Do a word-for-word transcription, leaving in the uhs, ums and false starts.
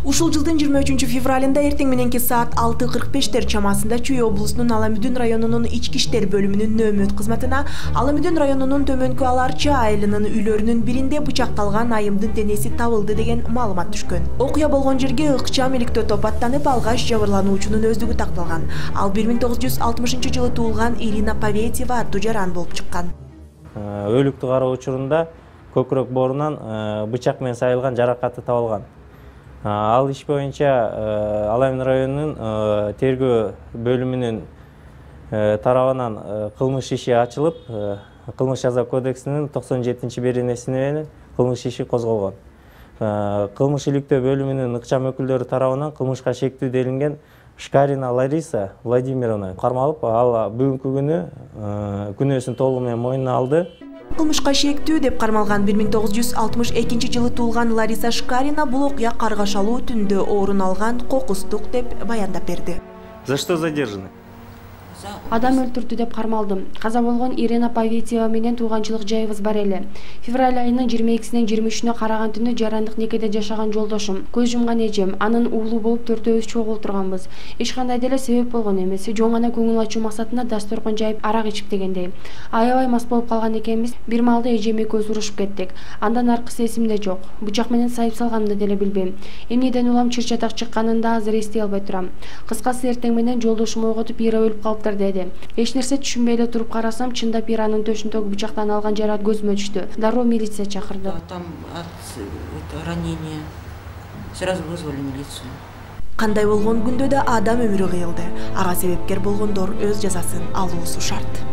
Ушул жылдын жыйырма үчүнчү февралында эртең мененки саат алты кырк бештер чамасында Чүй облусунун Аламүдүн районунун ички иштер бөлүмүнүн нөөмөт кызматына Аламүдүн районунун Төмөнкү Аларчы айылынын үйлөрүнүн биринде бычакталган айымдын денеси табылды деген маалымат түшкөн. Окуя болгон жерге ыкчам иликтөө топ аттанып, алгач жабырлануучунун өздүгү такталган. Ал бир миң тогуз жүз алтымышынчы жылы туулган Ирина Паветьева аттуу жаран болуп чыккан. Өлүктү кароо учурунда көкүрөк боорунан бычак менен сайылган жаракаты табылган. Ал иш боюнча Аламүдүн районунун тергөө бөлүмүнүн тарабынан кылмыш иши ачылып, Кылмыш жаза кодексинин токсон жетинчи беренесине менен кылмыш иши козголгон. Кылмыш иликтөө бөлүмүнүн ыкчам өкүлдөрү тарабынан кылмышка шектүү делинген Шкарина Лариса Владимировна кармалып, ал бүгүнкү күнү күнөөсүн толугу менен мойнуна алды. Кылмышка шектүү деп кармалган бир миң тогуз жүз алтымыш экинчи жылы туулган Лариса Шкарина бул окуя каргашалуу түндө орун алган кокустук деп баяндап берди. За что задержаны? Адам өлтүрдү деп кармалдым. Каза болгон Ирина Паветьева менен тууганчылык жайыбыз бар эле. Февраль айынын жыйырма экисинен жыйырма үчүнө караган түнү жарандык некеде жашаган жолдошум, көз жумган эжем, анын уулу болуп төртөөбүз чогуу отурганбыз. Эч кандай деле себеп болгон эмес. Жөн гана көңүл ачуу максатында дасторкон жайып арак ичип дегендей. Аябай мас болуп калган экенбиз. Бир маалда эжем экөөбүз урушуп кеттик. Андан аркысы эсимде жок. Бычак менен сайып салганымды деле билбейм. Эмнеден улам чыр-чатак чыкканын да азыр эстей албай турам. Кыскасы эртең менен жолдошум ойготуп Ира өлүп калыптыр деди. Эч нерсе түшүнбөй эле туруп карасам, чындап Иранын төшүндөгү бычактан алган жараат көзүмө түштү. Дароо милиция чакырды. Там ранение. Сразу вызвали милицию. Кандай болгон күндө да адам өмүрү кыйылды. Ага себепкер болгондор өз жазасын алуусу шарт.